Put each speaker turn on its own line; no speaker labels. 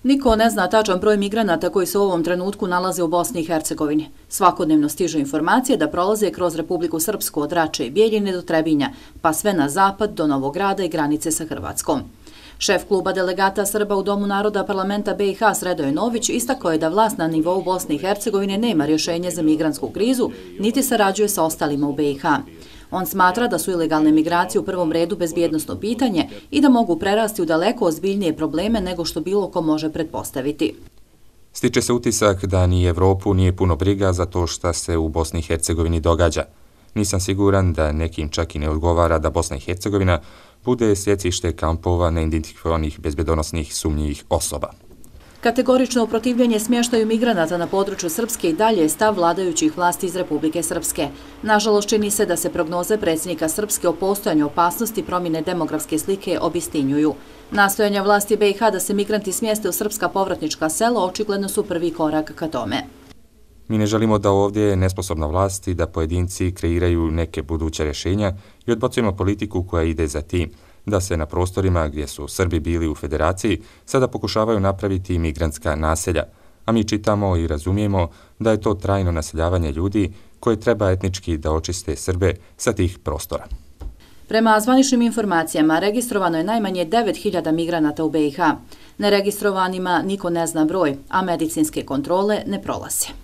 Niko ne zna tačan broj migranata koji se u ovom trenutku nalaze u Bosni i Hercegovini. Svakodnevno stižu informacije da prolaze kroz Republiku Srpsku od Rače i Bijeljine do Trebinja, pa sve na zapad do Novog Grada i granice sa Hrvatskom. Šef kluba delegata Srba u Domu naroda parlamenta BiH Sredoje Nović istakao je da vlast na nivou Bosne i Hercegovine nema rješenje za migrantsku krizu, niti sarađuje sa ostalima u BiH. On smatra da su ilegalne migracije u prvom redu bezbjednosno pitanje i da mogu prerasti u daleko ozbiljnije probleme nego što bilo ko može pretpostaviti.
Stiče se utisak da ni Evropu nije puno briga za to šta se u Bosni i Hercegovini događa. Nisam siguran da nekim čak i ne odgovara da Bosna i Hercegovina bude sjecište kampova neidentifikovanih bezbjedonosnih sumnjivih osoba.
Kategorično protivljenje smještaju migranata na području Srpske i dalje je stav vladajućih vlasti iz Republike Srpske. Nažalost, čini se da se prognoze predsjednika Srpske o postojanju opasnosti promjene demografske slike obistinjuju. Nastojanja vlasti BiH da se migranti smjeste u srpska povratnička sela očigledno su prvi korak ka tome.
Mi ne želimo da ovdje je nesposobna vlast i da pojedinci kreiraju neke buduće rješenja i odbacujemo politiku koja ide za tim da se na prostorima gdje su Srbi bili u federaciji sada pokušavaju napraviti migrantska naselja, a mi čitamo i razumijemo da je to trajno naseljavanje ljudi koje treba etnički da očiste Srbe sa tih prostora.
Prema zvaničnim informacijama, registrovano je najmanje 9.000 migranata u BiH. Neregistrovanima niko ne zna broj, a medicinske kontrole ne prolaze.